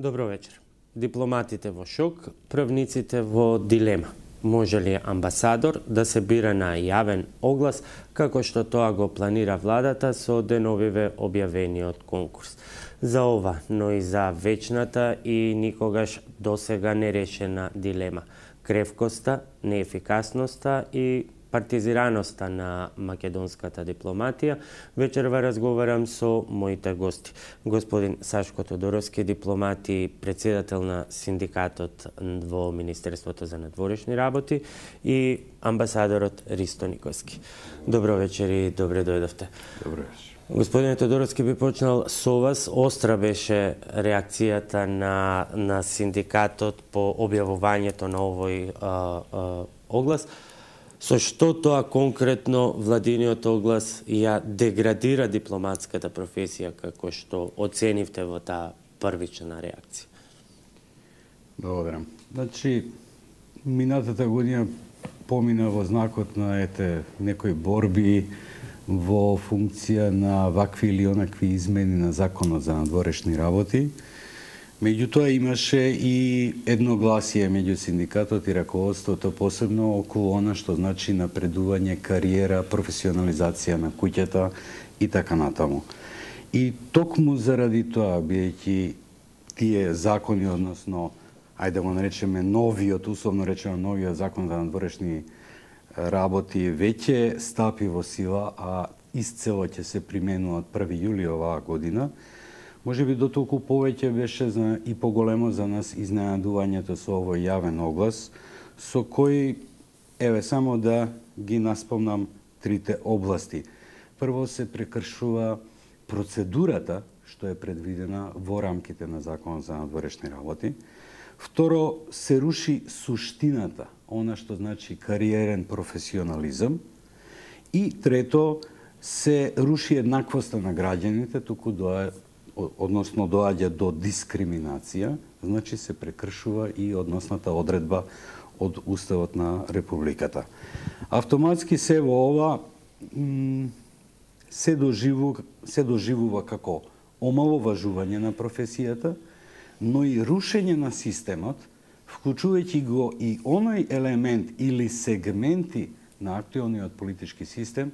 Добро вечер. Дипломатите во шок, правниците во дилема. Може ли амбасадор да се бира на јавен оглас, како што тоа го планира владата со деновиве објавениот конкурс? За ова, но и за вечната и никогаш досега нерешена дилема. Кревкоста, неефикасноста и партизираноста на македонската дипломатија, вечерва разговарам со моите гости. Господин Сашко Тодоровски, дипломат и председател на синдикатот во Министерството за надворешни работи, и амбасадорот Ристо Николски. Добро вечер и добре дојдовте. Добро вечер. Господин Тодоровски, би почнал со вас. Остра беше реакцијата на синдикатот по објавувањето на овој оглас. Со што тоа конкретно владиниот оглас ја деградира дипломатската професија, како што оценивте во таа првична реакција? Благодарам. Значи, минатата година помина во знакот на некои борби во функција на вакви или онакви измени на законот за надворешни работи. Меѓутоа имаше и едногласие меѓу синдикатот и раководството, посебно околу она што значи напредување, кариера, професионализација на куќата и така натаму. И токму заради тоа, бидејќи тие закони, односно, ајде го наречеме новиот, условно речено новиот закон за надворешни работи веќе стапи во сила, а исцело ќе се применува од 1 јули оваа година, може би дотолку повеќе беше и поголемо за нас изненадувањето со овој јавен оглас, со кој, само да ги наспомнам трите области. Прво, се прекршува процедурата што е предвидена во рамките на Законот за надворешни работи. Второ, се руши суштината, она што значи кариерен професионализам. И трето, се руши еднаквоста на граѓаните, туку доаѓа до дискриминација, значи се прекршува и односната одредба од Уставот на Републиката. Автоматски се во ова се доживува како омаловажување на професијата, но и рушење на системот, вклучувајќи го и оној елемент или сегменти на актуелниот политички систем,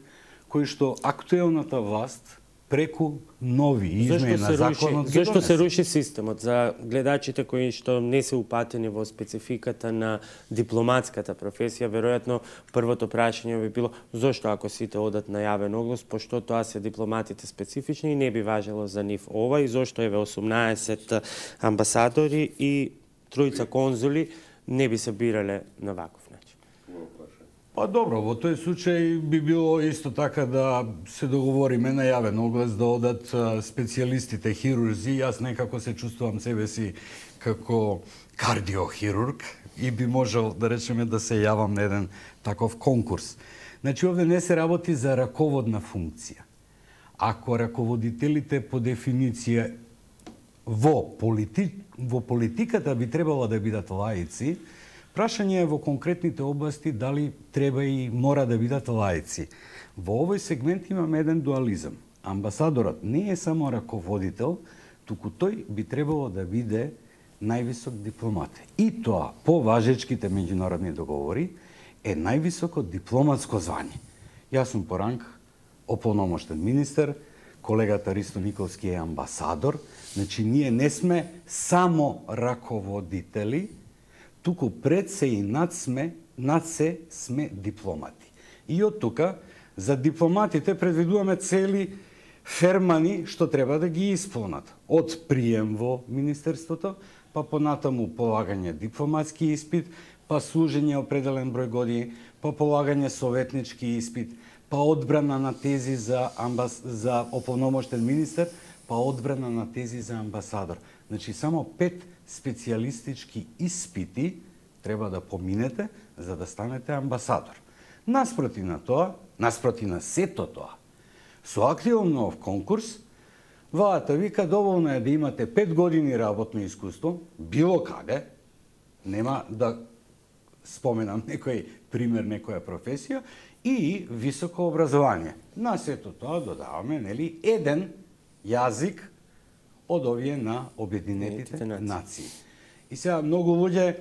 кој што актуелната власт преку нови измени на законот ги донесе. Зашто се руши системот? За гледачите кои што не се упатени во спецификата на дипломатската професија, веројатно првото прашање би било зошто ако сите одат на јавен оглас, пошто тоа се дипломатите специфични и не би важело за нив ова, и зошто 18 амбасадори и 3 конзули не би се бирале на ваков начин? Па добро, во тој случај би било исто така да се договориме на јавен оглас да одат специјалистите хирурзи. Јас некако се чувствувам себе си како кардиохирург и би можел да речеме да се јавам на еден таков конкурс. Значи, овде не се работи за раководна функција. Ако раководителите по дефиниција во политиката би требало да бидат лаици, прашање е во конкретните области дали треба и мора да бидат лаици. Во овој сегмент имаме еден дуализам. Амбасадорот не е само раководител, туку тој би требало да биде највисок дипломат. И тоа, по важечките меѓународни договори, е највисоко дипломатско звање. Јас сум по ранг ополномоштен министер, колегата Ристо Николски е амбасадор, значи ние не сме само раководители, туку пред се и над се сме дипломати. И од тука, за дипломатите предвидуваме цели фермани што треба да ги исполнат. Од прием во Министерството, па понатаму полагање дипломатски испит, па служење определен број години, па полагање советнички испит, па одбрана на тези за ополномоштен министер, па одбрана на тези за амбасадор. Значи, само 5 специјалистички испити треба да поминете за да станете амбасадор. Наспроти на сето тоа, со активно конкурс, владата вика доволно е да имате 5 години работно искуство, било каде, нема да споменам некој пример, некоја професија, и високо образование. На сето тоа додаваме еден јазик од овие на Обединетите нации. И сега многу луѓе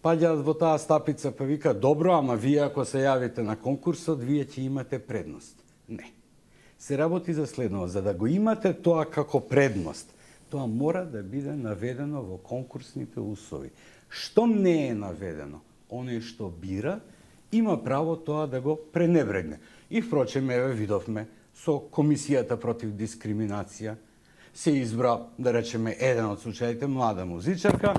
паѓаат во таа стапица, па вика, добро, ама вие ако се јавите на конкурсот, вие ќе имате предност. Не. Се работи за следново. За да го имате тоа како предност, тоа мора да биде наведено во конкурсните услови. Што не е наведено? Оној што бира, има право тоа да го пренебрегне. И впрочем, еве видовме, со Комисијата против дискриминација се избра, да речеме, еден од случаите, млада музичарка,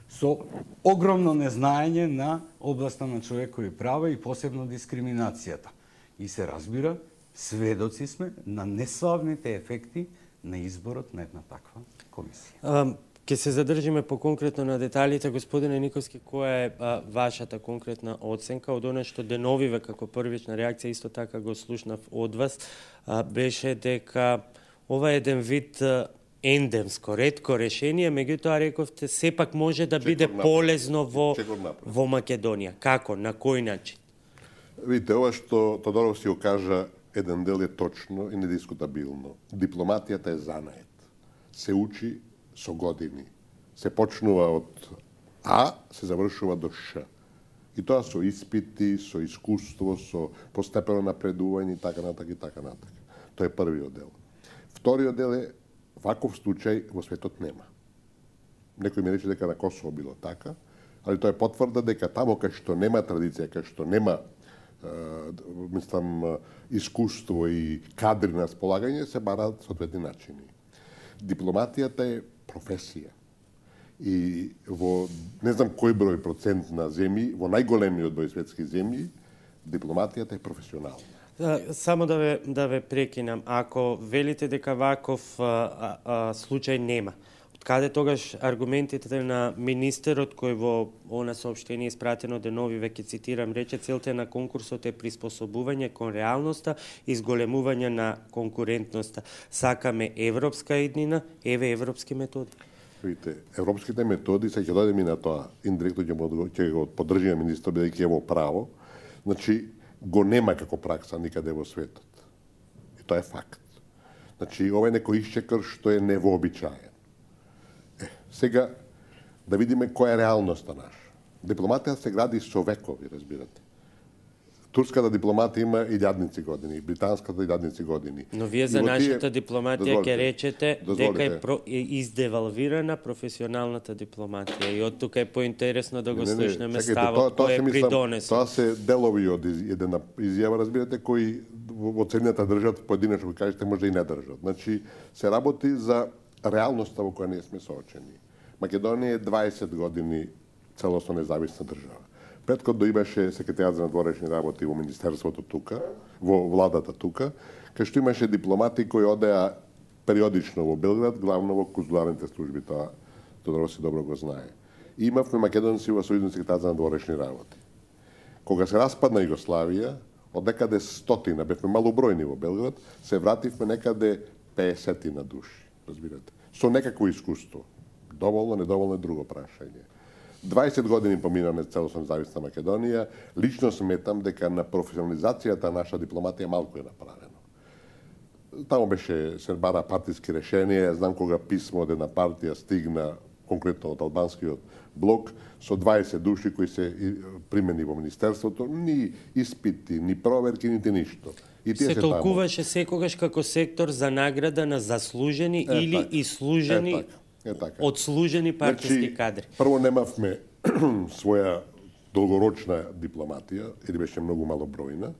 со огромно незнаење на областа на човекови права и посебно дискриминацијата. И се разбира, сведоци сме на неславните ефекти на изборот на една таква комисија. Ке се задржиме по-конкретно на деталите. Господине Николски, која е вашата конкретна оценка од она што деновиве како првична реакција, исто така го слушнав од вас, беше дека ова е еден вид ендемско, ретко решение, меѓутоа рековте сепак може да биде полезно во Македонија. Како? На кој начин? Видите, ова што Тодоров си го кажа, еден дел е точно и недискутабилно. Дипломатијата е занает. Се учи со години. Се почнува од А, се завршува до Ш. И тоа со испити, со искуство, со постепено напредување и така натака и така натака. Тоа е првиот дел. Вториот дел е ваков случај во светот нема. Некој ми рече дека на Косово било така, али тоа е потврда дека тамо кај што нема традиција, кај што нема искуство и кадри на располагање, се бараат соодветни начини. Дипломатијата е професија. И во не знам кој број процент на земји, во најголемиот број светски земји, дипломатијата е професионална. Само да ве прекинам. Ако велите дека ваков случај нема, каде тогаш аргументите на министерот кој во она соопштение испратено деновиве, ќе цитирам, рече целта на конкурсот е приспособување кон реалноста и зголемување на конкурентноста. Сакаме европска иднина, еве европски методи. Видите, европските методи, се ќе дојдеме на тоа, индиректно ќе го поддржиме министерот бидејќи е во право. Значи, го нема како пракса никаде во светот. И тоа е факт. Значи, ова е некој исчекор што е невообичаен. Сега, да видиме која е реалноста наша. Дипломатија се гради со векови, разбирате. Турската дипломатија има илјадници години, британската илјадници години. Но вие за нашата дипломатија ќе речете дека е издевалвирана професионалната дипломатија. И од тука е поинтересно да го слушнеме ставот кој е придонесен. Тоа се делови од една изјава, разбирате, кои во целината држат, поединечно ви кажете, може и не држат. Значи, се работи за реалноста во која ние сме соочени. Македонија е 20 години целосно независна држава. Претходно имаше секретарот за надворешни работи во министерството тука, во владата тука, кај што имаше дипломати кои одеа периодично во Белград, главно во конзуларните служби, тоа Тодоров си добро го знае. И имавме македонци во Сојузен секретар за надворешни работи. Кога се распадна Југославија, од некаде 100, бевме малобројни во Белград, се вративме некаде 50 души, разбирате, со некакво искуство. Доволно, недоволно е друго прашање. 20 години поминаме целосно независна Македонија. Лично сметам дека на професионализацијата наша дипломатија малку е направено. Тамо беше се бара партиски решенија. Знам кога писмо од една партија стигна, конкретно од албанскиот блок, со 20 души кои се примени во министерството, ни испити, ни проверки, нити ништо. И се толкуваше секогаш како сектор за награда на заслужени или ислужени одслужени партиски кадри. Прво, немавме своја долгорочна дипломатија, или беше многу малобројна.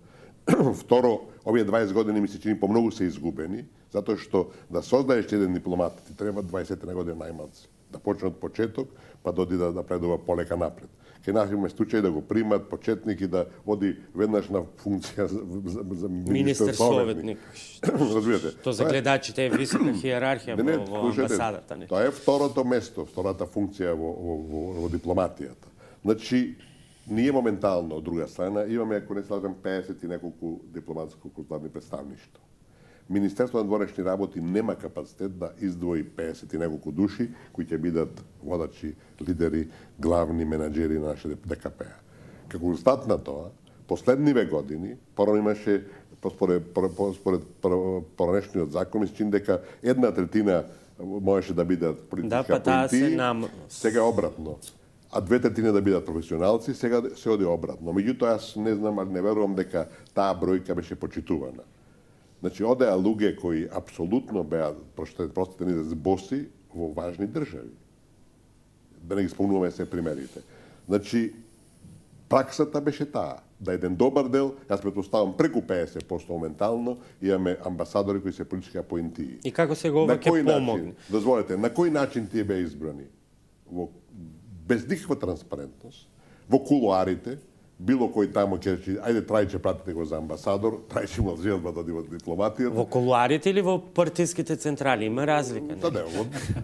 Второ, овие 20 години ми се чини помногу се изгубени, затоа што да создаеш еден дипломат ти треба 20 години најмалку. Да почне од почеток, па доди да напредува полека напред. Ке нашиме случај да го примат почетник и да оди веднаш на функција за министер советник. Разбирате? Тоа за гледачите е висока хиерархија во амбасадата. Тоа е второто место, втората функција во дипломатијата. Значи, ние моментално, од друга страна, имаме, ако не се лажам, 50 и неколку дипломатско-консуларни представништва. Министерство на надворешни работи нема капацитет да издвои 50 и неколку души кои ќе бидат водачи, лидери, главни менаџери на нашите ДКП-а. Како резултат на тоа, последниве години, порано имаше, според поранешниот закон, ми се чини дека 1/3 можеше да бидат политичка поентии, сега е обратно. А 2/3 да бидат професионалци, сега се оди обратно. Меѓутоа, јас не знам, не верувам дека таа бројка беше почитувана. Значи, одеа луѓе кои апсолутно беа, простите ни за боси, во важни држави. Да не ги спомнуваме се примерите. Значи, праксата беше таа, да еден добар дел, јас претпоставам преку 50% моментално, имаме амбасадори кои се политички апоинтии. И како се го ова ќе помогне? Дозволете, на кој начин тие беа избрани? Без никаква транспарентност, во кулуарите, било кој тамо ќе речи, ајде Трајче пратите го за амбасадор, Трајче имал желба да оди во дипломатијата. Во кулуарите или во партиските централи? Има разлика, не?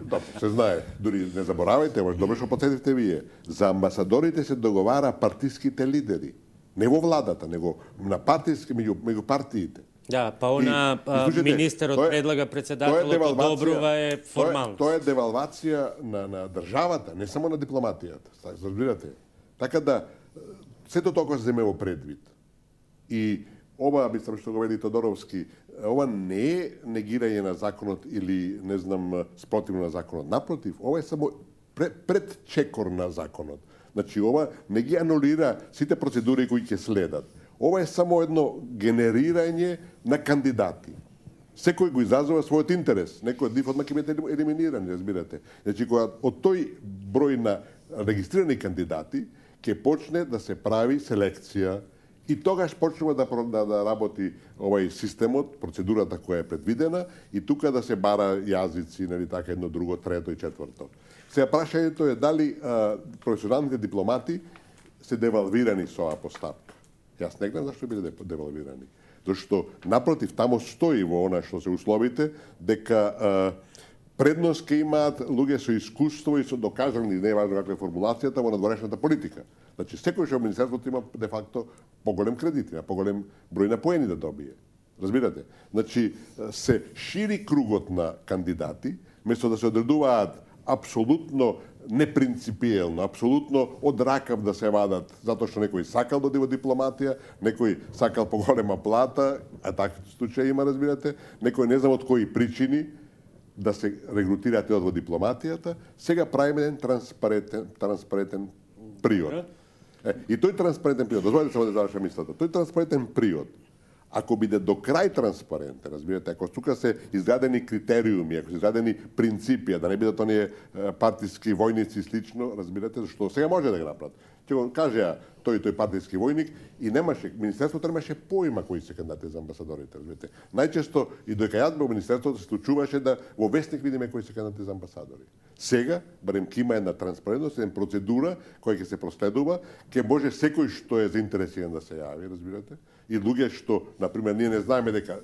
Да, се знае. Дури не заборавајте, може добро што потсетивте вие. За амбасадорите се договара партиските лидери. Не во владата, него на партиски, меѓу партиите. Да, па она министерот предлага председателот одобрува е формално. Тоа е девалвација на државата, не само на дипломатијата. Разбирате? Така да сето тоа се земе во предвид. И ова, мислам што го вели Тодоровски, ова не е негирање на законот или, не знам, спротивно на законот. Напротив, ова е само предчекор на законот. Значи, ова не ги анулира сите процедури кои ќе следат. Ова е само едно генерирање на кандидати. Секој го изразува својот интерес. Некој од нив одма ќе биде елиминирани, разбирате. Значи, кога од тој број на регистрирани кандидати ќе почне да се прави селекција и тогаш почнува да работи овај системот, процедурата која е предвидена и тука да се бара јазици, нели така, едно, друго, трето и четврто. Сега прашањето е дали професионалните дипломати се девалвирани со оваа постапка. Јас не гледам зашто биле девалвирани. Зашто, напротив, тамо стои во она што се условите, дека предност ке имаат луѓе со искуство и со докажани, не е важно каква е формулацијата, во надворешната политика. Значи, секој што Министерството има, де факто, поголем кредит, има поголем број на поени да добие. Разбирате? Значи, се шири кругот на кандидати, место да се одредуваат апсолутно непринципиелно, апсолутно од ракав да се вадат, затоа што некој сакал да оди во дипломатија, некој сакал поголема плата, а такви случаи има, разбирате, некој не знам од кои причини да се регрутираат во дипломатијата, сега правиме еден транспарентен приод. И тој транспарентен приод, дозволете само да завршам мислата, тој транспарентен приод, ако биде до крај транспарентен, разбирате, ако тука се изградени критериуми, ако се изградени принципи, да не бидат оние партиски војници и слично, разбирате, зашто сега може да ги направат. Ќе го кажеа тој партиски војник и немаше, Министерството немаше поима кои се кандидати за амбасадорите, разбирате. Најчесто и доека јас бев во Министерството се случуваше да во вестник видиме кои се кандидати за амбасадори. Сега, барем ќе има една транспарентност, една процедура која ќе се проследува, ќе може секој што е заинтересиран да се јави, разбирате. И луѓе што, например, ние не знаеме дека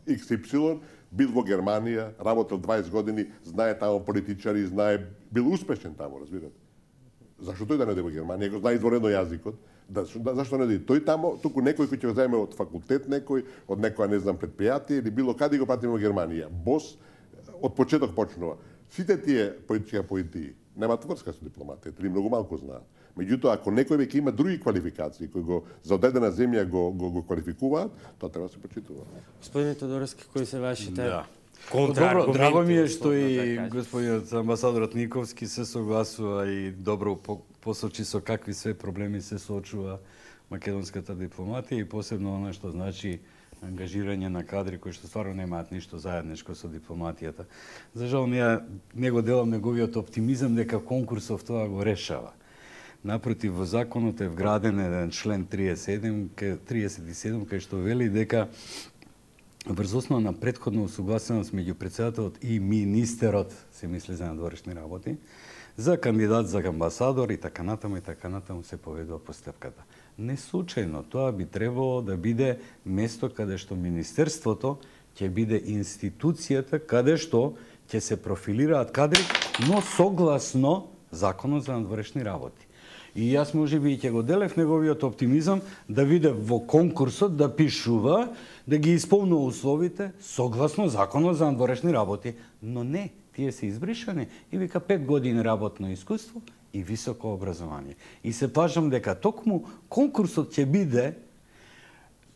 XY бил во Германија, работел 20 години, знае тамо политичари, знае, бил успешен тамо, разбирате. Зашто тој да не оди во Германија, го знае изворено јазикот? Зашто не оди? Тој тамо, туку некој кој ќе го земе од факултет некој, од некоја, не знам, предпријатие или било каде го пратиме во Германија. Бос, од почеток почнува. Сите тие политички поентии немаат врска со дипломатија, или многу малку знаат. Меѓутоа, ако некој веќе има други квалификации кои го за одредена земја го квалификуваат, тоа треба да се почитува. Господине Тодоровски, кои се вашите Добро, драго ми е што и господинот амбасадорот Никовски се согласува и добро посочи со какви све проблеми се соочува македонската дипломатија и посебно она што значи ангажирање на кадри кои што стварно немаат ништо заедничко со дипломатијата. За жал не го делам неговиот оптимизам дека конкурсов тоа го решава. Напротив, во законот е вграден еден член 37 кај што вели дека врз основа на претходна усогласеност меѓу председателот и министерот, се мисли за надворешни работи, за кандидат за амбасадор и така натаму се поведува постапката. Не случајно, тоа би требало да биде место каде што Министерството ќе биде институцијата каде што ќе се профилираат кадри, но согласно Законот за надворешни работи. И јас можеби ќе го делев неговиот оптимизам да биде во конкурсот да пишува, да ги исполнува условите согласно Законот за надворешни работи, но не, тие се избришани и вика 5 години работно искуство и високо образование. И се плашам дека токму конкурсот ќе биде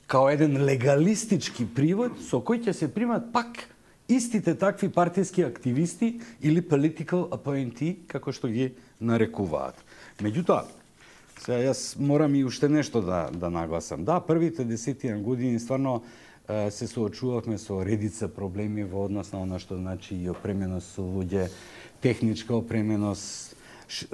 као еден легалистички привод со кој ќе се примат пак истите такви партиски активисти или political appointee, како што ги нарекуваат. Меѓутоа, сега јас морам и уште нешто да нагласам. Да, првите 10 години стварно се соочувавме со редица проблеми во однос на она што значи и опременост со луѓе, техничка опременост,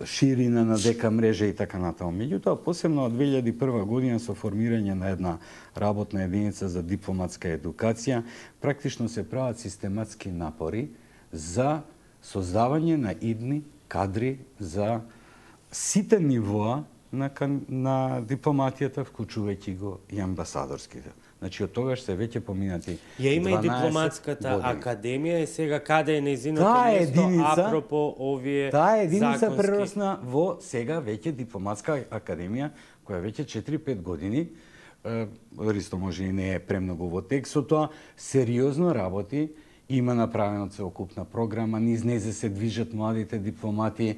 ширина на дека мрежа и така натаму. Меѓутоа, посебно од 2001 година со формирање на една работна единица за дипломатска едукација, практично се прават систематски напори за создавање на идни кадри за сите нивоа на дипломатијата, вклучувајќи го и амбасадорските. Значи, од тогаш се веќе поминати 12 Ја има и дипломатската академија и сега каде е нејзиното место апропо овие таа единица законски... прерасна во сега веќе дипломатска академија, која веќе 4-5 години, ристо може и не е премногу во текстот, тоа сериозно работи, има направена целокупна програма, низ незе се движат младите дипломати,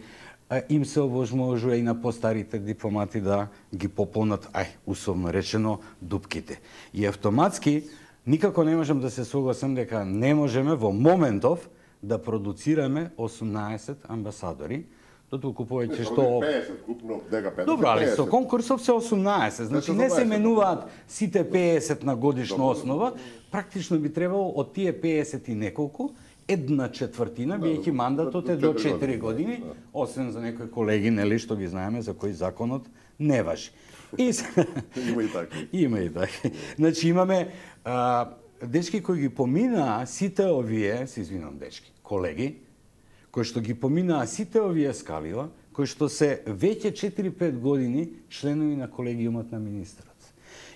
им се овозможува и на постарите дипломати да ги пополнат, условно речено, дупките. И автоматски, никако не можам да се согласам дека не можеме во моментов да продуцираме 18 амбасадори, дотолку повеќе што... 50 купно, дека 50. Добро, али со конкурсов се 18, значи не се менуваат сите 50 на годишна основа, практично би требало од тие 50 и неколку, 1/4, биејќи мандатот е до 4 години, освен за некои колеги, нели, што ги знаеме за кој законот не важи. Има и такви. Има и такви. Значи имаме дечки кои ги поминаа сите овие, се извинам дечки, колеги, кои што ги поминаа сите овие скалила, кои што се веќе 4-5 години членови на колегиумот на министрот.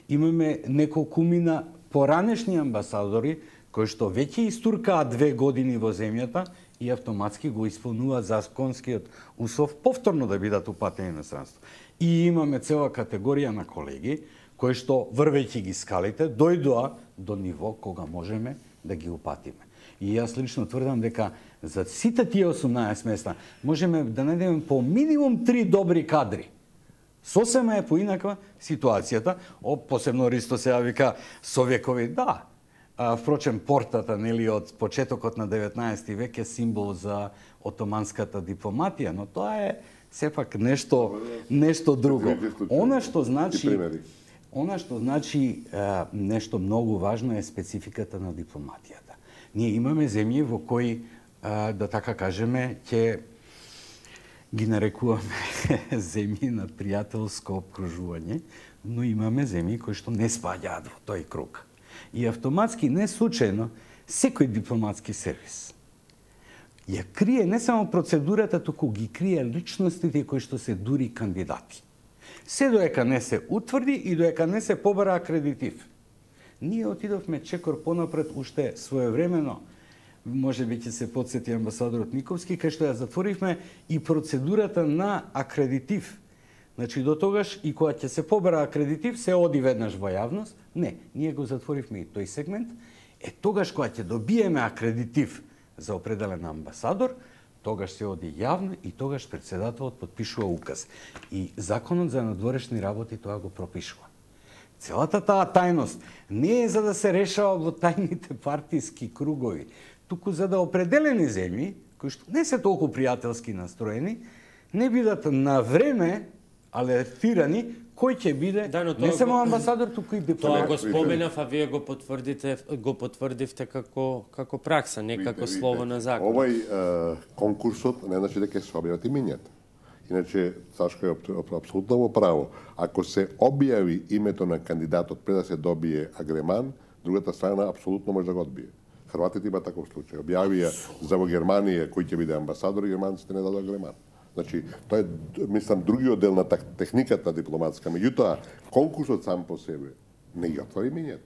Имаме неколкумина поранешни амбасадори кои што веќе истуркаат 2 години во земјата и автоматски го исполнуваат законскиот услов повторно да бидат упатени на странство. И имаме цела категорија на колеги кои што врвејќи ги скалите дојдоа до ниво кога можеме да ги упатиме. И јас лично тврдам дека за сите тие 18 места можеме да најдеме по минимум 3 добри кадри. Сосема е поинаква ситуацијата, посебно Ристо сега вика совекови, да. Впрочем, портата, нели, од почетокот на 19 век е символ за отоманската дипломатија, но тоа е сепак нешто друго. Она што значи нешто многу важно е спецификата на дипломатијата. Ние имаме земји во кои, да така кажеме, ќе ги нарекуваме земји на пријателско обкружување, но имаме земји кои што не спаѓаат во тој круг. И автоматски, не случајно, секој дипломатски сервис ја крие не само процедурата, туку ги крие личностите кои што се дури кандидати. Се доека не се утврди и доека не се побара акредитив. Ние отидовме чекор понапред уште своевремено, може би ќе се потсети амбасадорот Никовски, кај што ја затворивме и процедурата на акредитив. Значи, до тогаш и кога ќе се побара акредитив, се оди веднаш во јавност. Не, ние го затворивме и тој сегмент. Тогаш кога ќе добиеме акредитив за определен амбасадор, тогаш се оди јавно и тогаш председателот потпишува указ. И законот за надворешни работи тоа го пропишува. Целата таа тајност не е за да се решава во тајните партиски кругови, туку за да определени земји, кои што не се толку пријателски настроени, не бидат на време алертирани кој ќе биде не само амбасадор, туку и дипломат. Тоа го споменав, а вие го потврдивте како пракса, не како слово на закон. Овој конкурсот не значи дека се објават имињата. Иначе, Сашко е апсолутно во право. Ако се објави името на кандидатот пред да се добие агреман, другата страна апсолутно може да го одбие. Хрватите има таков случај. Објавија за во Германија кој ќе биде амбасадор и германците не дадоа агреман. Значи, тоа е, мислам, другиот дел на техниката дипломатска. Меѓутоа, конкурсот сам по себе не ги отвори имињата.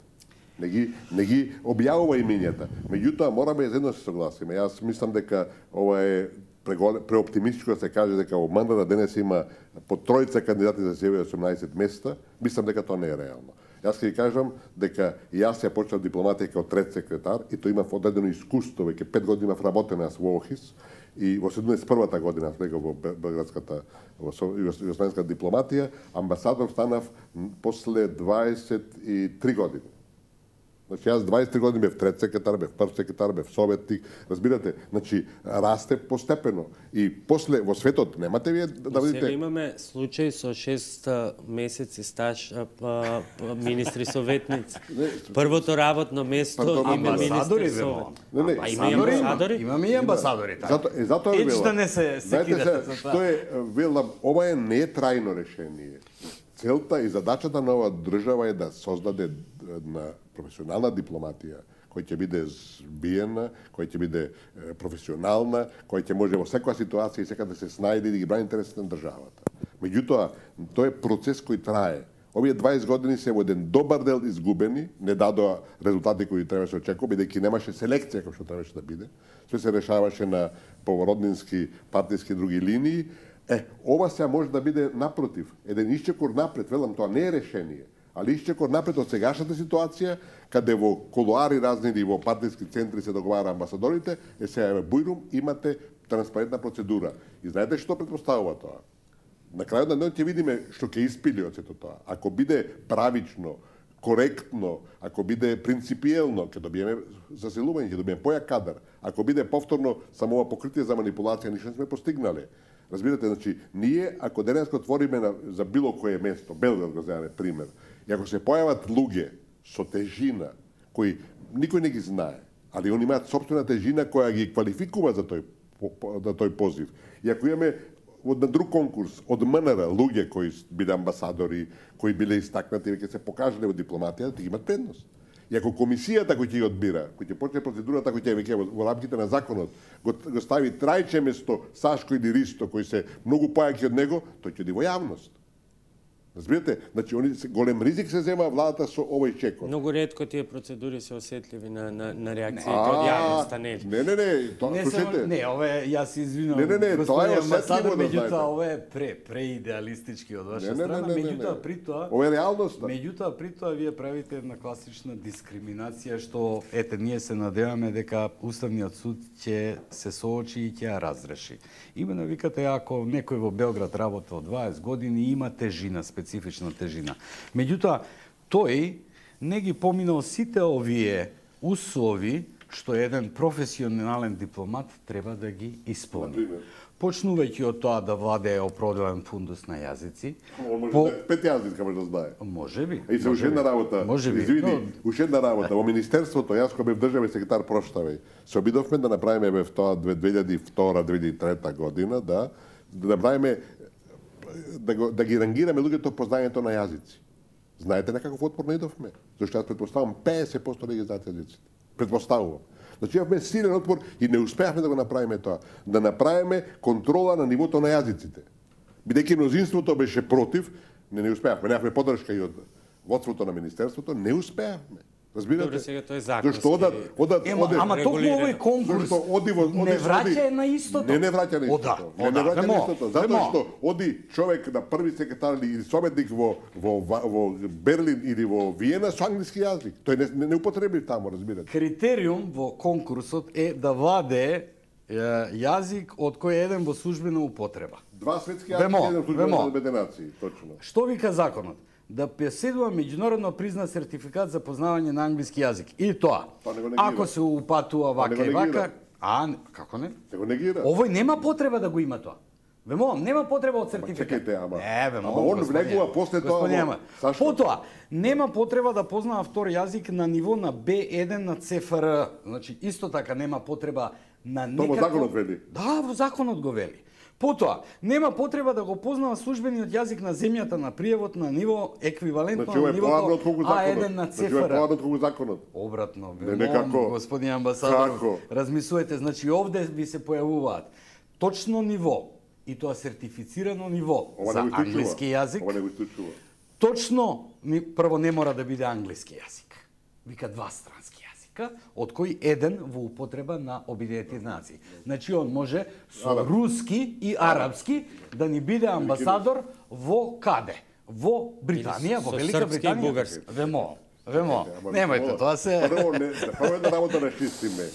Не ги објавува имињата. Меѓутоа, мораме едно се согласиме. Јас мислам дека ова е преоптимистичко да се каже дека во мандата денес има по тројца кандидати за себе 18 места. Мислам дека тоа не е реално. Јас ќе кажам дека јас ја почнав дипломатија како трет секретар и тоа имав одредено искуство, веќе 5 години имав работен јас во ОХИС и во 71-та година влегов во Белградската југословенска дипломатија, амбасадор станав после 23 години. Значи, јас 23 години бев трет секретар, бев прв секретар, бев советник, разбирате, значи, расте постепено. И после, во светот, немате вие да видите... Сега имаме случај со 6 месеци стаж министри советници. Првото работно место име министри советници. Има и амбасадори? Имаме и амбасадори. Затоа ви да не се секирате за тоа. Што е, велам, ова не е трајно решение. Целта и задачата на оваа држава е да создаде на професионална дипломатија, која ќе биде збиена, која ќе биде професионална, која ќе може во секоја ситуација и секаде да се снајде и да ги брани интересите на државата. Меѓутоа, тоа е процес кој трае. Овие 20 години се во еден добар дел изгубени, не дадоа резултати кои требаше очекува, бидејќи немаше селекција како што требаше да биде. Све се решаваше на повороднински, партиски и други линии. Ова сега може да биде напротив, еден исчекор напред, велам, тоа не е решение, али исчекор напред од сегашната ситуација, каде во колуари разни или во партиски центри се договара амбасадорите, сега во Бујрум имате транспарентна процедура. И знаете што претпоставува тоа? На крајот на денот ќе видиме што ќе испили од сето тоа. Ако биде правично, коректно, ако биде принципиелно, ќе добиеме заселување, ќе добиеме појак кадар. Ако биде повторно само ова покритие за манипулација, ништо не сме постигнале. Разбирате, значи, ние, ако денеска отвориме за било кое место, Белград го земеме пример, и ако се појават луѓе со тежина, кои никој не ги знае, али они имаат собствена тежина која ги квалификува за тој позив, и ако имаме на друг конкурс од МНР луѓе кои биле амбасадори, кои биле истакнати, веќе се покажале во дипломатијата, ги имат предност. И ако комисијата кој ќе ги одбира, кој ќе почне процедурата кој ќе веќе во рамките на законот го стави Трајче место Сашко или Ристо, кои се многу појаки од него, тој ќе оди во јавност. Разбирате? Значи, голем ризик се зема владата со овој чекор. Многу ретко тие процедури се осетливи на реакциите од јавноста, не? Слушайте. Не, ова јас се извинувам. Не, тоа е осетливо да знаете. Меѓутоа, ова е преидеалистички од ваша страна, меѓутоа при тоа... Ова е реалноста. Меѓутоа при тоа вие правите една класична дискриминација што, ние се надеваме дека Уставниот суд ќе се соочи и ќе ја разреши. Имено викате, ако некој во Белград работел 20 години, има тежина, специфична тежина. Меѓутоа, тој не ги поминал сите овие услови што еден професионален дипломат треба да ги исполни. Почнувајќи од тоа да владее определен фундус на јазици. Може 5 јазици може да знае. Може би. И се уште една работа. Извини, уште една работа. Во Министерството, јас кога бев државен секретар, проштавај, се обидовме да направиме бев тоа 2002-2003 година, да направиме да ги рангираме луѓето по знаењето на јазици. Знаете на каков отпор не идовме? Зашто јас претпоставам 50% не ги знаат јазиците. Претпоставувам. Значи имавме силен отпор и не успеавме да го направиме тоа. Да направиме контрола на нивото на јазиците. Бидејќи мнозинството беше против, не успеавме. Немавме поддршка и од водството на министерството, не успеавме. Разбирате? Добре, сега тоа е законски. Зашто ама токму овој конкурс не враќа на истото. Не враќа на истото. Не враќа на истото. Затоа што оди човек на први секретар или советник во Берлин или во Виена со англиски јазик. Тој не употреби таму, разбирате. Критериум во конкурсот е да владее јазик од кој е еден во службена употреба. 2 светски јазици, еден службена беденација, точно. Што вика законот? Да поседува меѓународно признат сертификат за познавање на англиски јазик. И тоа, ако се упатува вака и вака... Како не? Се го негира. Овој нема потреба да го има тоа. Вемолам, нема потреба од сертификат. Чекајте, ама он влегува после тоа... Потоа, нема потреба да познава втор јазик на ниво на B1 на ЦФР. Значи, исто така нема потреба на некако... Тоа во законот вели. Да, во законот го вели. Потоа, нема потреба да го познава службениот јазик на земјата на приевод на ниво еквивалентно на нивото А1 на ЦФР. Значи, е поадот колку законот. Обратно, господин амбасадор, размислувате, значи овде ви се појавуваат точно ниво, и тоа сертифицирано ниво за англиски јазик. Ова не го исклучува. Точно, прво не мора да биде англиски јазик. Вика 2 странски јазика, од кој еден во употреба на Обединетите нации. Значи, он може со руски и арапски да ни биде амбасадор во каде? Во Британија, во Велика Британија. Вемо, немајте, тоа се... Прво една работа рашистиме.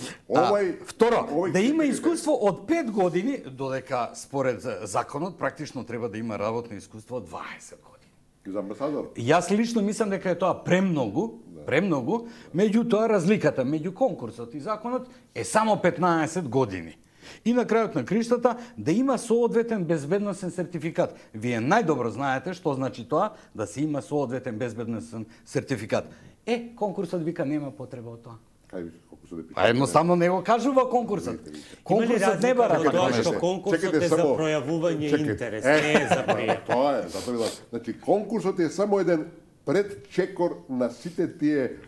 Второ, да има искуство од 5 години, додека според законот практично треба да има работно искуство од 20 години. За амбасадор? Јас лично мислам дека е тоа премногу, Премногу, меѓутоа разликата меѓу конкурсот и законот е само 15 години. И на крајот на криштата да има соодветен безбедносен сертификат. Вие најдобро знаете што значи тоа да се има соодветен безбедносен сертификат. Конкурсот вика нема потреба од тоа. Едноставно не го кажува конкурсот. Конкурсот не бара тоа што конкурсот е за пројавување интерес, не е за пријат. Тоа е, затоа значи конкурсот е само еден предчекор на сите тие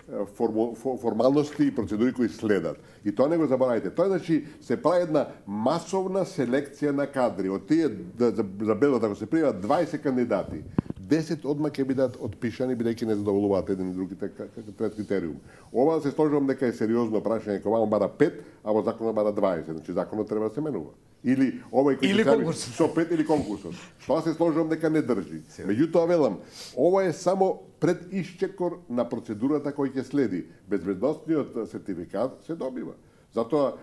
формалности и процедури кои следат. И тоа не го заборавајте. Тоа значи се прави една масовна селекција на кадри. Од тие забележат ако се пријават 20 кандидати, 10 одма ќе бидат отпишани бидејќи не задоволуваат еден и другите трет критериум. Ова се сложувам дека е сериозно прашање, кога ваму бара 5, а во законот бара 20. Значи законот треба да се менува. Или овој кој се јави со 5 или конкурсот. Тоа се сложувам дека не држи. Меѓутоа велам, ова е само предишчекор на процедурата кој ќе следи. Безбедносниот сертификат се добива. Затоа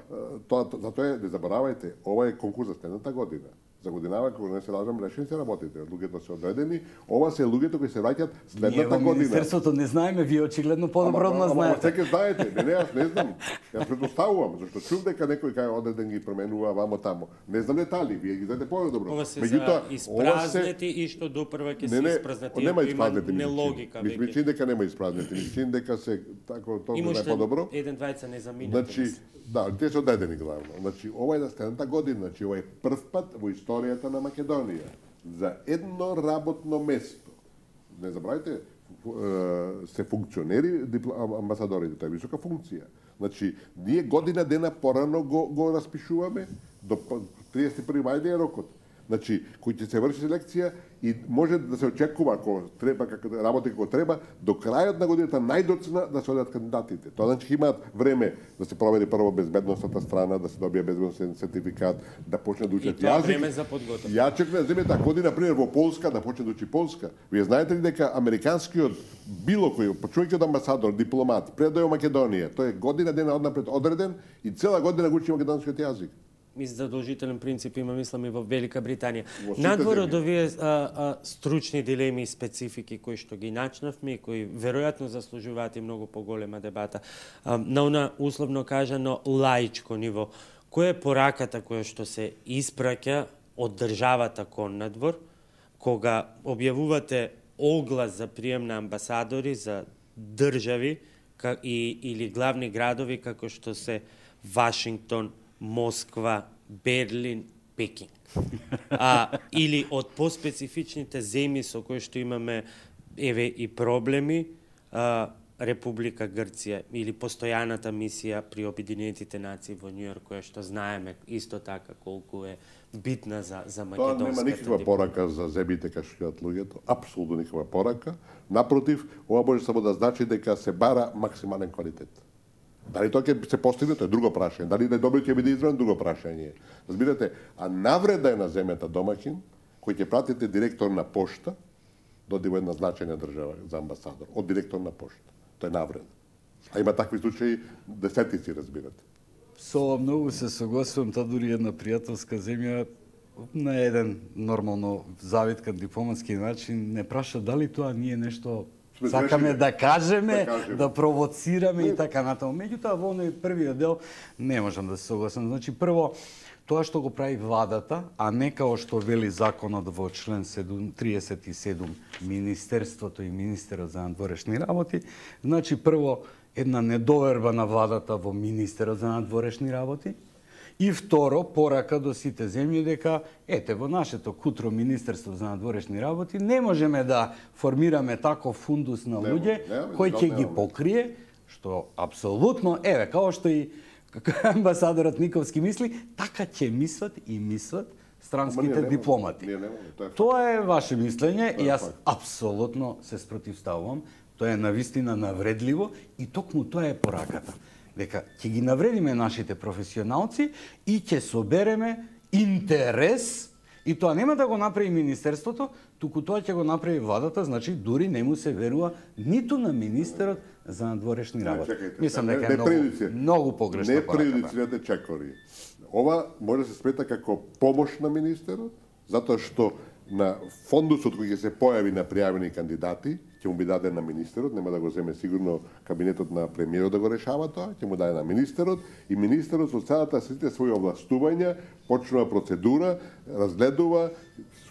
не заборавајте, ова е конкурс за следната година. За годинава, кога не се лажам, решени се работите. Луѓето се одредени, ова се луѓето кои се враќаат следната година. Ние во Министерството не знаеме, вие очигледно подобро знаете. Ама секој знаете, не, јас не знам. Јас предпоставувам, зашто чув дека некој кај одреден ги променува вамо тамо. Не знам детали, вие ги знаете подобро. Ова се за испразнети и што допрва ќе се испразнети. Нема испразнети. Нелогика. Ми чин дека нема испразнети. Ми чин дека се тако тоа е подобро. Еден двајца не заминати. Значи, да, те се одредени главно. Значи, ова е за следната година, значи ова е прв пат во историјата на Македонија за едно работно место. Не забравајте, се функционери амбасадорите, тоа е висока функција. Значи, ние година дена порано го распишуваме, до 31 мај е рокот. Значи, кој ќе се врши селекција и може да се очекува, ако треба, работи како треба, до крајот на годината најдоцна да се одат кандидатите. Тоа значи имаат време да се провери прво безбедносната страна, да се добие безбедносен сертификат, да почне да учат јазик. И тоа време за подготовка. Ја чекам да земете година, например, во Полска, да почне да учи полска. Вие знаете ли дека американскиот било кој, почувајќи од амбасадор, дипломат, предој во Македонија, тој е година дена однапред одреден и цела година го учи македонскиот јазик. Задолжителен принцип има, мислам, и во Велика Британија. Надвор од овие стручни дилеми и специфики кои што ги начнавме и кои веројатно заслужуваат и многу поголема дебата, на она условно кажано лаичко ниво, која е пораката која што се испраќа од државата кон надвор, кога објавувате оглас за прием на амбасадори за држави или главни градови како што се Вашингтон, Москва, Берлин, Пекинг. Или од поспецифичните земји со кои што имаме и проблеми, Република Грција или постојаната мисија при Обединетите нации во Њујорк, која што знаеме исто така колку е битна за македонската. Тоа нема никаква порака за земјите кај што јат луѓето, апсолутно никаква порака. Напротив, ова може само да значи дека се бара максимален квалитет. Дали тоа ќе се постигне, тоа е друго прашање. Дали најдобро ќе биде избран, друго прашање. Разбирате, а навреда е на земјата домаќин, кој ќе пратите директор на пошта, доди во една значајна држава за амбасадор, од директор на пошта. Тоа е навреда. А има такви случаи десетици, разбирате. Со многу се согласувам, тоа дури една пријателска земја на еден нормално завиткан дипломатски начин не праша дали тоа ние нешто сакаме да кажеме, да провоцираме и така натаму. Меѓутоа, во оној првиот дел не можам да се согласам. Значи, прво, тоа што го прави владата, а не као што вели законот во член 37 Министерството и Министерот за надворешни работи, значи, прво, една недоверба на владата во Министерот за надворешни работи, и второ, порака до сите земји дека, во нашето кутро Министерство за надворешни работи не можеме да формираме таков фундус на луѓе кој ќе ги покрие, што апсолутно, као што и амбасадорот Никовски мисли, така ќе мислат странските дипломати. Тоа е ваше мислење и јас апсолутно се спротивставувам. Тоа е навистина навредливо и токму тоа е пораката. Дека ќе ги навредиме нашите професионалци и ќе собереме интерес, и тоа нема да го направи Министерството, туку тоа ќе го направи владата, значи дури не му се верува ниту на Министерот за надворешни работи. Мислам дека е многу погрешна пораката. Не прејудицирате чекори. Ова може да се смета како помош на Министерот, затоа што на фондусот кој ќе се појави на пријавени кандидати, ќе му би даде на министерот, нема да го земе сигурно кабинетот на премиерот да го решава тоа, ќе му даде на министерот и министерот со целата сите своји овластувања почнува процедура, разгледува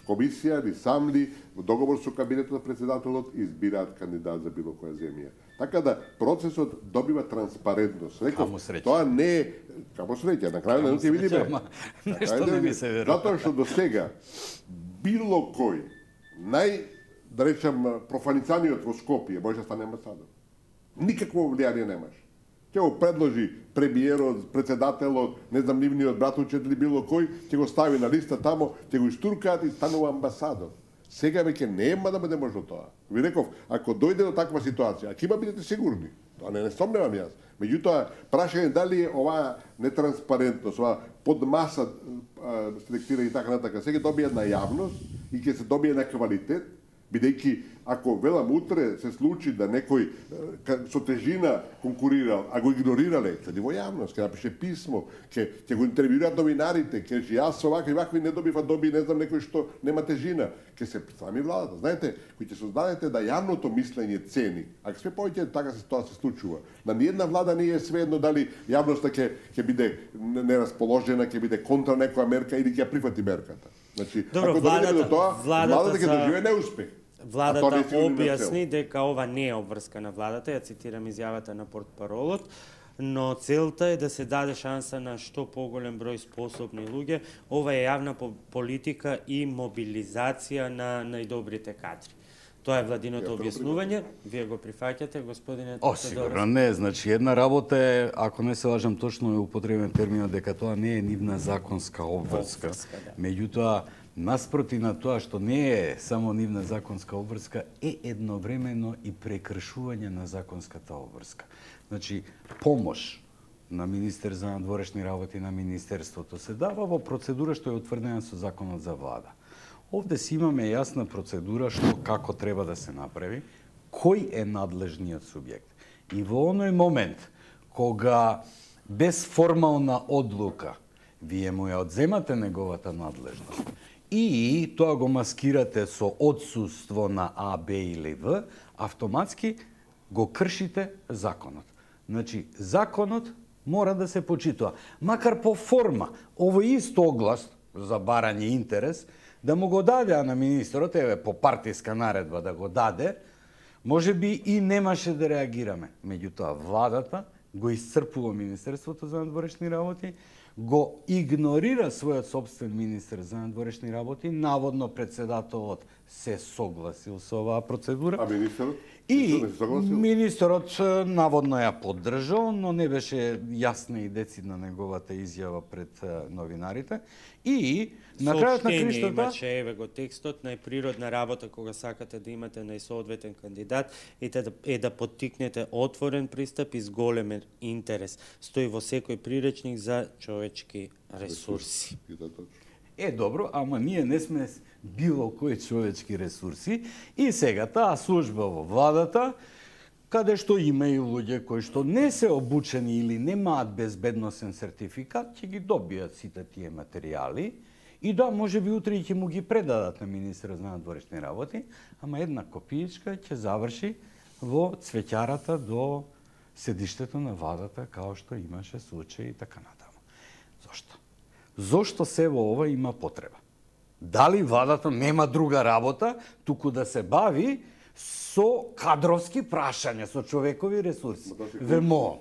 комисија или сам ли во договор со кабинетот на председателот избираат кандидат за било која земја. Така да процесот добива транспарентност. Реков, тоа не е камо среќа, на крајот на ќе видиме. Нешто не ми се верува. Затоа што до сега било кој да речем профаницаниот во Скопје може да стане амбасадор. Никакво влијание немаш. Ќе го предложи премиерот, председателот, не знам нивниот братовчет или било кој, ќе го стави на листа тамо, ќе го истуркаат и станува амбасадор. Сега веќе нема да биде можно тоа. Ви реков, ако дојде до таква ситуација, ако има бидете сигурни, тоа не сомневам јас. Меѓутоа, прашање дали оваа нетранспарентност, оваа под маса селектира и така натака, сега добија на јавност и ќе се добие на квалитет, бидејќи ако велам утре се случи да некој со тежина конкурирал, а го игнорирале, ќе во јавност, ќе напише писмо, ќе го интервјуираат новинарите, ќе јас со вакви не добив, а доби не знам некој што нема тежина, ќе се сами владата. Знаете, кој ќе создадете да јавното мислење цени, а све повеќе така тоа се случува. На ниедна влада не е свеедно дали јавноста ќе биде нерасположена, ќе биде контра некоја мерка или ќе прифати мерката. Значи, добро, ако дојдеме до тоа, владата ќе доживее неуспех. Владата објасни дека ова не е обврска на владата, ја цитирам изјавата на портпаролот, но целта е да се даде шанса на што поголем број способни луѓе. Ова е јавна политика и мобилизација на најдобрите кадри. Тоа е владиното објаснување. Вие го прифаќате, господине Тодоров? Сигурно не. Значи, една работа е, ако не се лажам точно, е употребен терминот дека тоа не е нивна законска обврска. Меѓутоа, наспроти на тоа што не е само нивна законска обврска, е едновремено и прекршување на законската обврска. Значи, помош на министер за надворешни работи на министерството се дава во процедура што е утврдена со законот за влада. Овде си имаме јасна процедура што како треба да се направи, кој е надлежниот субјект. И во оној момент кога без формална одлука вие му ја одземате неговата надлежност и тоа го маскирате со отсуство на А, Б или В, автоматски го кршите законот. Значи, законот мора да се почитува. Макар по форма, овој ист оглас за барање интерес, да му го даде на министерот, еве по партиска наредба да го даде, може би и немаше да реагираме. Меѓутоа, владата го исцрпува Министерството за надворешни работи, го игнорира својот собствен министер за надворешни работи, наводно председателот се согласил со оваа процедура. А министерот? И министерот наводно ја поддржал, но не беше јасна и децидна неговата изјава пред новинарите. И на крајот на криштата имаше, еве го текстот, најприродна работа кога сакате да имате најсоодветен кандидат е да поттикнете отворен пристап и зголемен интерес. Стои во секој приречник за човечки ресурси. Добро, ама ние не сме било кои човечки ресурси и сега таа служба во владата, каде што има и луѓе кои што не се обучени или немаат безбедносен сертификат, ќе ги добијат сите тие материјали и да, може би утре ќе му ги предадат на министерот за надворешни работи, ама една копијичка ќе заврши во цвеќарата до седиштето на владата, као што имаше случаи и така натаму. Зошто? Зошто се во ова има потреба? Дали владата нема друга работа, туку да се бави со кадровски прашања, со човекови ресурси? Вемо.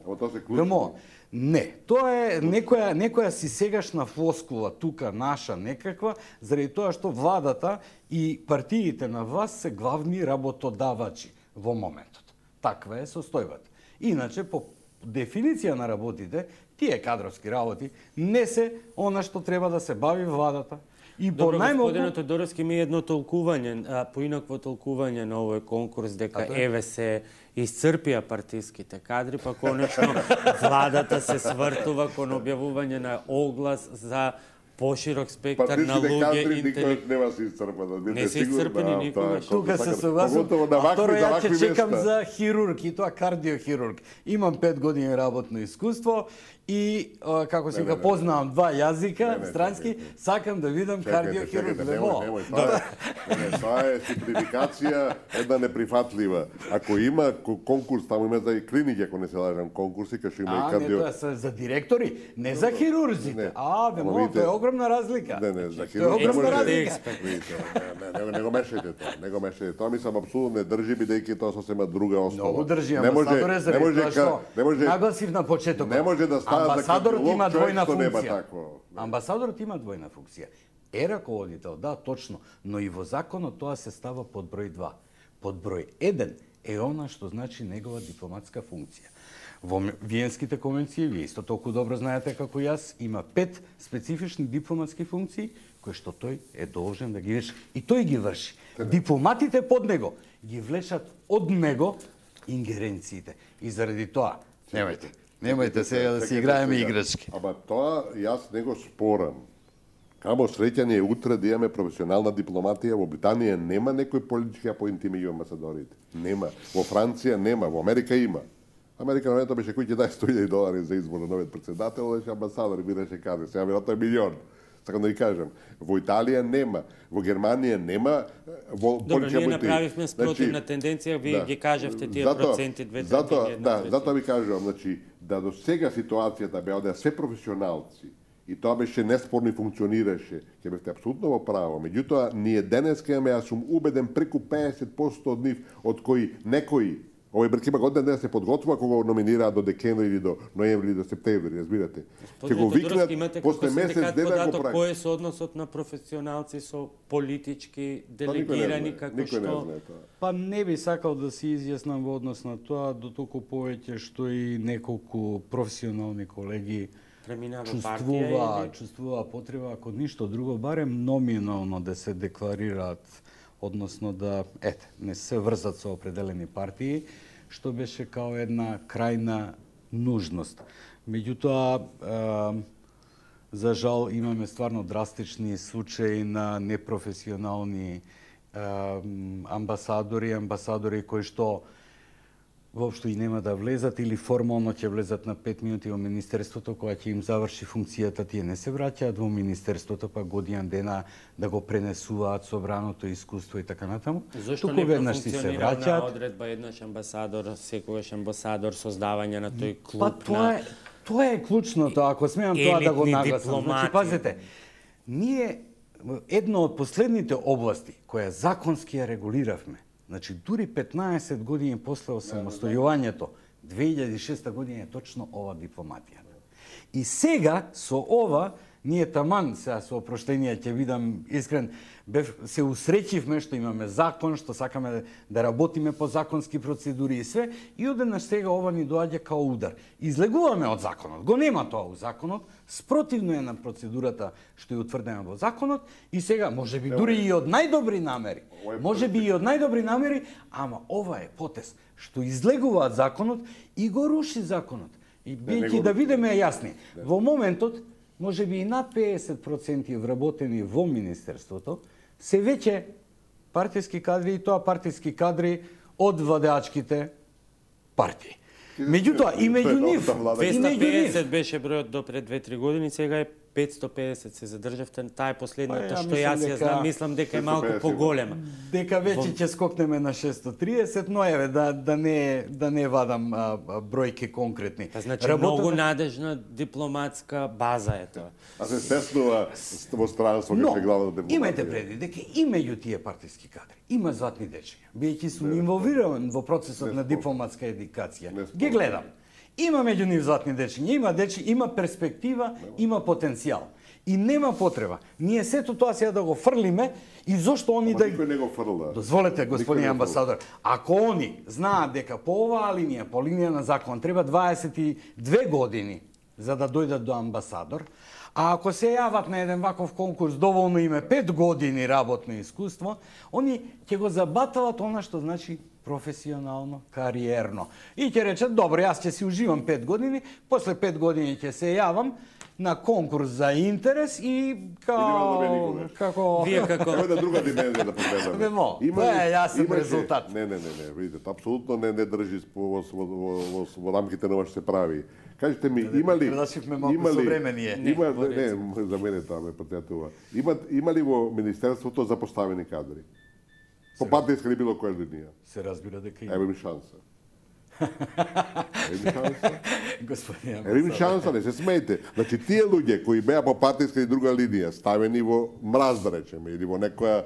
Не, тоа е некоја си сегашна флоскула тука наша некаква, заради тоа што владата и партиите на власт се главни работодавачи во моментот. Таква е состојбата. Иначе, по дефиниција на работите, тие кадровски работи не се она што треба да се бави владата. И добро, господине Тодоровски, ми едно толкување, поинакво толкување на овој конкурс, дека еве се исцрпија партиските кадри, па конечно владата се свртува кон објавување на оглас за поширок спектар на Партичните луѓе кадри никогаш нема се исцрпат. Не се исцрпени никогаш. Тука се согласувам. Второ, ја ќе чекам за хирург, и тоа кардиохирург. Имам 5 години работно искуство и, како се познавам 2 јазика странски, сакам да видам кардиохирург. Немој, тоа е симплификација, една неприфатлива. Ако има конкурс, таму има за и клиники, ако не се лажам, конкурси, кај има и кардио... Не, тоа за директори, не за хирурзите. Тоа е огромна разлика. Не, за хирург. Тоа е огромна разлика. Не го мешајте тоа, не го мешајте. Тоа мислам апсолутно не држи, бидејќи тоа сосема друга основа. Многу држи, амбасадор е заради тоа што нагласив на почетокот. Не може да става за кардиолог човек што нема такво. Амбасадорот има двојна функција. Е раководител, да, точно, но и во законот тоа се става под број 2. Под број 1 е она што значи негова дипломатска функција. Во Виенските конвенции, вие исто толку добро знаете како јас, има 5 специфични дипломатски функции кои што тој е должен да ги врши. И тој ги врши. Дипломатите под него ги влечат од него ингеренциите. И заради тоа, немајте сега да си играеме играчки. Ама тоа јас не го спорам. Камо среќање е утре да имаме професионална дипломатија. Во Британија нема некој политички апоинти меѓу амбасадорите. Нема. Во Франција нема, во Америка има. Америка на беше кој ќе даде $100,000 за избор на новиот председател, беше амбасадор, бидеше каде. Сега веројатно е милион. Сакам да ви кажам, во Италија нема, во Германија нема, во Добро, ние направивме спротивна тенденција, вие ги кажавте тие проценти, 2-3-1. Затоа ви кажувам, да до сега ситуацијата беа одеа се професионалци, и тоа беше неспорно и функционираше, ќе бевте апсолутно во право. Меѓутоа, ние денеска имаме, јас сум убеден, преку 50% од нив, од кои некои, овој брк има година ден да се подготвува кога го номинираат до декември или до ноември или до септември, разбирате. Ќе го викнат после месец дена го прави. Кој е соодносот на професионалци со политички делегирани како што? Па не би сакал да се изјаснам во однос на тоа, дотолку повеќе што и неколку професионални колеги чувствува потреба, ако ништо друго, барем номинално да се декларираат, односно да, не се врзат со определени партии, што беше као една крајна нужност. Меѓутоа, за жал, имаме стварно драстични случаи на непрофесионални амбасадори кои што воопшто и нема да влезат или формално ќе влезат на 5 минути во министерството, кога ќе им заврши функцијата, тие не се враќаат во министерството, па година дена да го пренесуваат собраното искуство и така натаму. Зошто не профункционира одредба еднаш амбасадор, секогаш амбасадор, создавање на тој клуб на... Тоа е клучното, ако смеам тоа да го нагласам. Значи, пазете, ние едно од последните области која законски ја регулиравме, значи, дури 15 години после осамостојувањето, 2006 година е точно ова дипломатија. И сега, со ова, ние таман, сега со опроштение ќе видам искрен, се усреќивме што имаме закон, што сакаме да работиме по законски процедури и све, и одеднаш сега ова ни доаѓа као удар. Излегуваме од законот, го нема тоа у законот, спротивно е на процедурата што е утврдена во законот, и сега, може би дури и од најдобри намери, ама ова е потез што излегуваат законот и го руши законот. И бијќи да видиме јасни, во моментот, може би и над 50% вработени во Министерството, се веќе партиски кадри, и тоа партиски кадри од владеачките партии. Меѓутоа, и меѓу нив... 250 беше бројот до пред 2-3 години, сега е 550 се задржавте, таа е последната што јас ја знам, мислам дека е малку поголема. Дека веќе ќе скокнеме на 630, но еве да не вадам бројки конкретни. Значи многу надежна дипломатска база е тоа. А се стеснува во странство како главна дипломатија. Имајте преди дека и меѓу тие партиски кадри има златни дечиња. Биејќи сум инволвиран во процесот на дипломатска едукација. Ги гледам. Има меѓу нив златни дечиња, има перспектива, има потенцијал. И нема потреба. Ние сето тоа сега да го фрлиме и зошто они да... Никој не го фрла. Дозволете, господин амбасадор, ако они знаат дека по оваа линија, по линија на закон, треба 22 години за да дојдат до амбасадор, а ако се јават на еден ваков конкурс, доволно име 5 години работно искуство, они ќе го забаталат она што значи професионално, кариерно. И ќе речат, добро, јас ќе си уживам 5 години, после 5 години ќе се јавам, на конкурс за интерес и како Вие како Ево една друга димензија да погледаме. Немо, тоа е јасен резултат. Не, видите, апсолутно не држи во рамките на ова што се прави. Кажете ми, има ли за мене тоа ме потетува. Има ли во министерството запоставени кадри? По партијска или било која линија? Се разбира дека има. Ево ми шанса. Господин Ево ми шанса, не се смејте. Значи, тие луѓе кои беа по партијска и друга линија, ставени во мраз, да речеме, или во некоја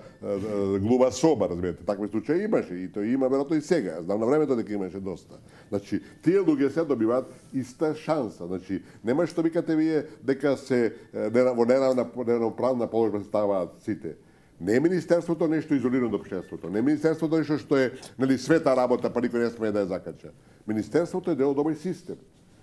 глуба соба, разбирате, такви случаи имаше, и тој има веројатно и сега. Знам на времето дека имаше доста. Значи, тие луѓе се добиваат иста шанса. Значи, нема што викате вие дека се во неравноправна положба се ставаат сите. Не е министерството нешто изолирано од општеството. Не е министерството нешто што е света работа, па никој не смее да ја закача. Министерството е дел од овој систем.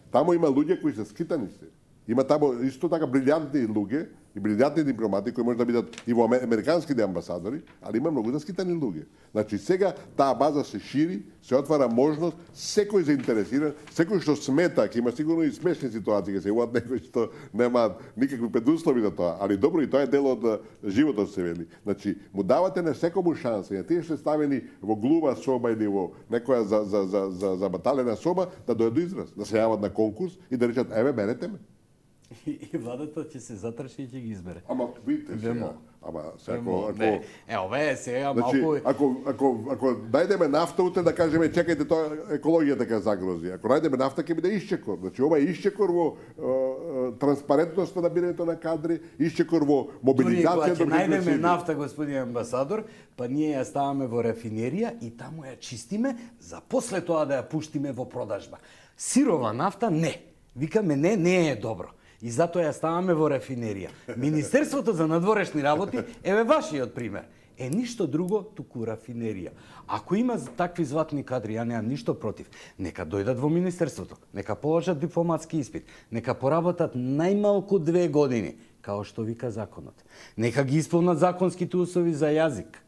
Таму има луѓе кои се скитани се. Има таму исто така брилјантни луѓе и брилјантни дипломати кои може да бидат и во американските амбасадори, али има многу заскитани луѓе. Значи сега таа база се шири, се отвара можност секој заинтересиран, секој што смета, ќе има сигурно и смешни ситуации, ќе се јават некои што немаат никакви предуслови за тоа, али добро и тоа е дел од животот, се вели. Значи му давате на секому шанса, и тие што ставени во глуба соба или во некоја за баталена соба да дојдат до израз, да се јават на конкурс и да речат еве берете ме. И владата ќе се затрши и ќе ги избере. Ама видите сега, ова е сега малку. Ако најдеме нафта утре да кажеме чекајте тоа екологијата ќе загрози. Ако најдеме нафта ќе биде исчекор. Значи ова е исчекор во транспарентноста на бирањето на кадри, исчекор во мобилизација. Кога ќе најдеме нафта, господин амбасадор, па ние ја ставаме во рафинерија и таму ја чистиме за после тоа да ја пуштиме во продажба. Сирова нафта не. Викаме не е добро. И затоа ја ставаме во рафинерија. Министерството за надворешни работи, еве вашиот пример, е ништо друго, туку рафинерија. Ако има такви златни кадри, ја немам ништо против, нека дојдат во Министерството, нека положат дипломатски испит, нека поработат најмалку 2 години, као што вика законот. Нека ги исполнат законските услови за јазик.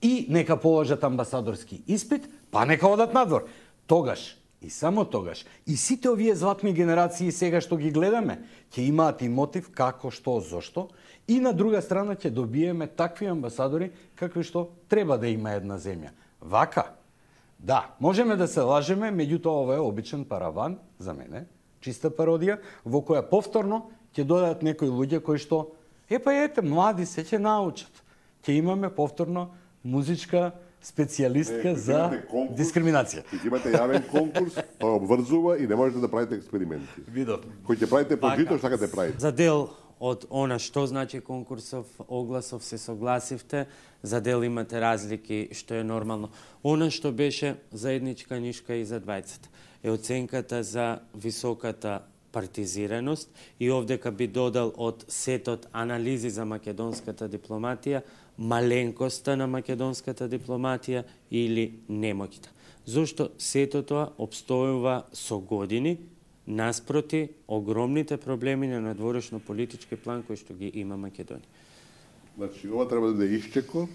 И нека положат амбасадорски испит, па нека одат надвор. Тогаш, и само тогаш, и сите овие златни генерации сега што ги гледаме, ќе имаат и мотив како, што, зошто, и на друга страна ќе добиеме такви амбасадори какви што треба да има една земја. Вака, да, можеме да се лажеме, меѓутоа ова е обичен параван, за мене, чиста пародија, во која повторно ќе дојдат некои луѓе кои што, млади се ќе научат. Ќе имаме повторно музичка специјалистка за дискриминација. Ќе имате јавен конкурс, тоа обврзува и не можете да правите експерименти. Видов. Кој ќе правите по жито, што ќе правите. За дел од она што значи конкурсов, огласов се согласивте, за дел имате разлики што е нормално. Она што беше заедничка нишка и за двајцата е оценката за високата партизираност и овдека би додал од сетот анализи за македонската дипломатија, маленкоста на македонската дипломатија или немоќта. Зошто сето тоа обстојува со години наспроти огромните проблеми на надворешно политички план кои што ги има Македонија. Значи, ова треба да биде исчекор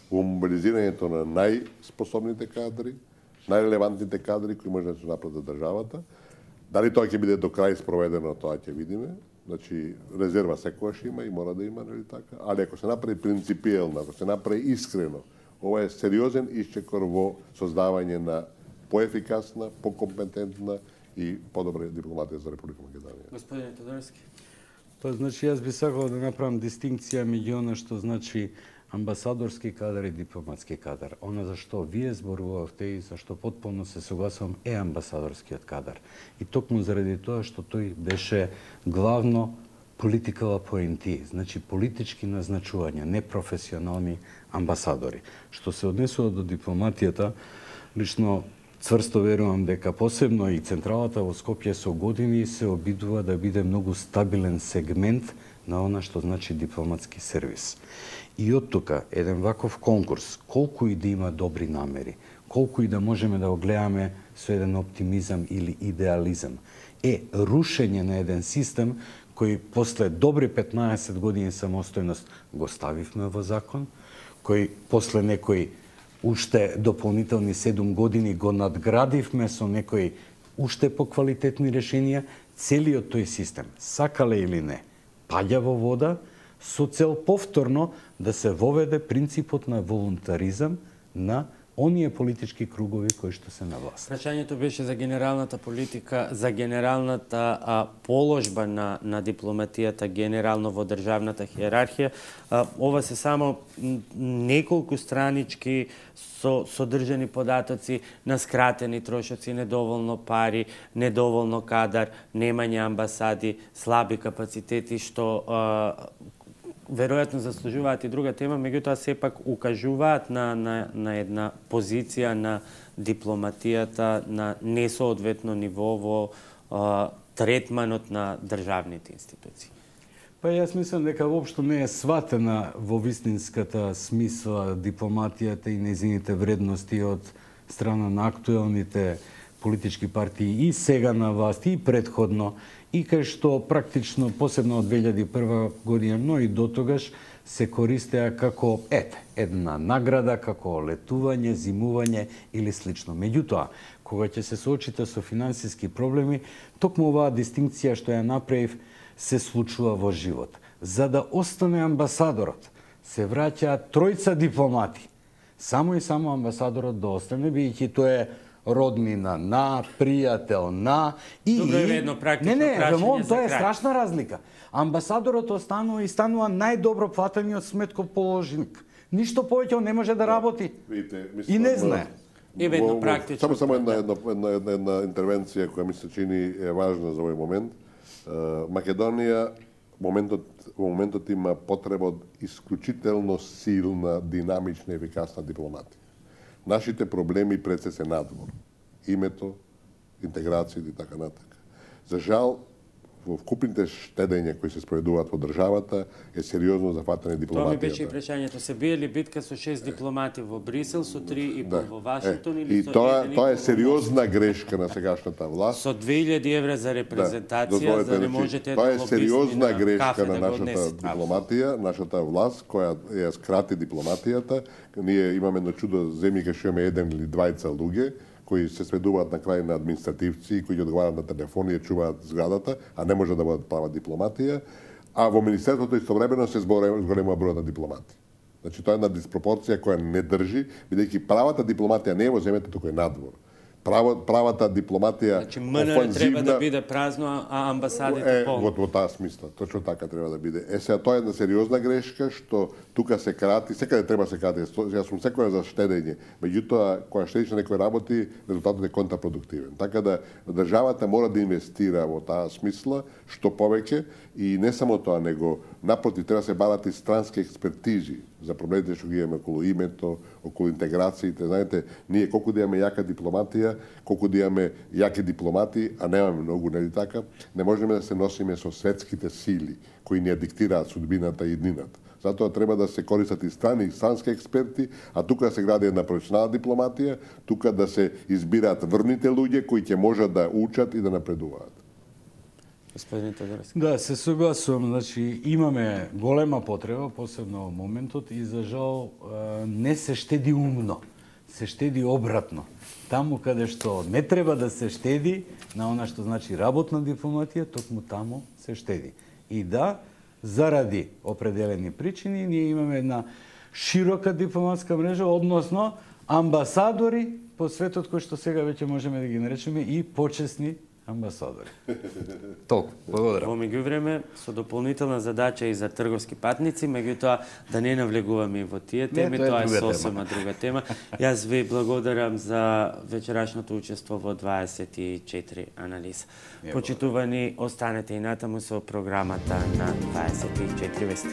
во мобилизирањето на најспособните кадри, најрелевантните кадри кои може да се направат за државата. Дали тоа ќе биде до крај спроведено, тоа ќе видиме. Значи, резерва секогаш има и мора да има, нели така? Али ако се направи принципиелно, ако се направи искрено, ова е сериозен исчекор во создавање на поефикасна, покомпетентна и подобра дипломатија за Република Македонија. Господине Тодорски. Па, значи, јас би сакал да направам дистинкција меѓу она што значи амбасадорски кадар и дипломатски кадар. Она за што вие зборувавте и за што потполно се согласувам е амбасадорскиот кадар. И токму заради тоа што тој беше главно political appointee, значи политички назначувања, не професионални амбасадори. Што се однесува до дипломатијата, лично цврсто верувам дека посебно и централата во Скопје со години се обидува да биде многу стабилен сегмент на она што значи дипломатски сервис. И од тука, еден ваков конкурс, колку и да има добри намери, колку и да можеме да го гледаме со еден оптимизам или идеализам, е рушење на еден систем кој после добри 15 години самостојност го ставивме во закон, кој после некои уште дополнителни 7 години го надградивме со некои уште поквалитетни решенија, целиот тој систем, сакале или не, паѓа во вода со цел повторно да се воведе принципот на волунтаризам на оние политички кругови кои што се на власт. Прашањето беше за генералната политика, за генералната положба на дипломатијата генерално во државната хиерархија. Ова се само неколку странички содржани податоци на скратени трошоци, недоволно пари, недоволно кадар, немање амбасади, слаби капацитети што веројатно заслужуваат и друга тема, меѓутоа сепак укажуваат на една позиција на дипломатијата на несоодветно ниво во третманот на државните институции. Па јас мислам дека воопшто не е сватена во вистинската смисла дипломатијата и нејзините вредности од страна на актуелните политички партии и сега на власт и предходно, и кај што практично, посебно од 2001 година, но и до тогаш, се користеа како една награда, како летување, зимување или слично. Меѓутоа, кога ќе се соочите со финансиски проблеми, токму оваа дистинкција што ја направив се случува во живот. За да остане амбасадорот, се враќаат тројца дипломати. Само и само амбасадорот да остане, бидејќи тоа е роднина на, пријател на и едно практично прашање за тоа е крај. страшна разлика. Амбасадорот останува и станува најдобро платениот сметкоположник. Ништо повеќе он не може да работи. И не знае. Едно практично. Само една интервенција која ми се чини е важна за овој момент. Македонија во моментот има потреба од исклучително силна, динамична и ефикасна дипломатија. Нашите проблеми пред се надвор. Името, интеграцијата и така натака. За жал, во вкупните штедења кои се спроведуваат во државата е сериозно зафатена дипломатијата. Тоа ми беше и прашањето. Се бие ли битка со 6 дипломати во Брисел, со 3 и во Вашингтон или со 1? И тоа е сериозна грешка на сегашната власт. Со 2000 евра за репрезентација, за да не можете тоа е сериозна грешка на нашата несете. дипломатија, нашата власт која ја скрати дипломатијата. Ние имаме едно чудо земји кај што имаме еден или двајца луѓе кои се сведуваат на крај на административци, кои ќе одговараат на телефони и чуваат зградата, а не може да бидат права дипломатија, а во Министерството истовремено се зголемува бројот на дипломати. Значи, тоа е една диспропорција која не држи, бидејќи правата дипломатија не е во земјата, туку е надвор. Правата дипломатија значи, МНР треба да биде празно, а амбасадите полно. Во таа смисла, точно така треба да биде. Сега тоа е една сериозна грешка што тука се крати, секаде треба се крати. Јас сум секоја за штедење, меѓутоа кога штедиш на некој работи, резултатот е контрапродуктивен. Така да државата мора да инвестира во таа смисла што повеќе и не само тоа, него напротив треба да се барат и странски експертизи за проблемите што ги имаме околу името, околу интеграциите. Знаете, ние колку да имаме јака дипломатија, колку да имаме јаки дипломати, а немаме многу, нели така, не можеме да се носиме со светските сили кои ни ја диктираат судбината и иднината. Затоа треба да се користат и странски експерти, а тука да се гради една професионална дипломатија, тука да се избираат врните луѓе кои ќе можат да учат и да напредуваат. Господин Тодоревски. Да, се согласувам. Значи, имаме голема потреба, посебно во моментот, и за жал не се штеди умно. Се штеди обратно. Таму каде што не треба да се штеди, на она што значи работна дипломатија, токму таму се штеди. И да, заради определени причини, ние имаме една широка дипломатска мрежа, односно амбасадори по светот кои што сега веќе можеме да ги наречеме и почесни амбасадори. Толку. Благодарам. Во меѓувреме, со дополнителна задача и за трговски патници, меѓутоа да не навлегуваме и во тие теми, тоа е сосема друга тема. Јас ви благодарам за вечерашното учество во 24 анализа. Почитувани, останете и натаму со програмата на 24 вести.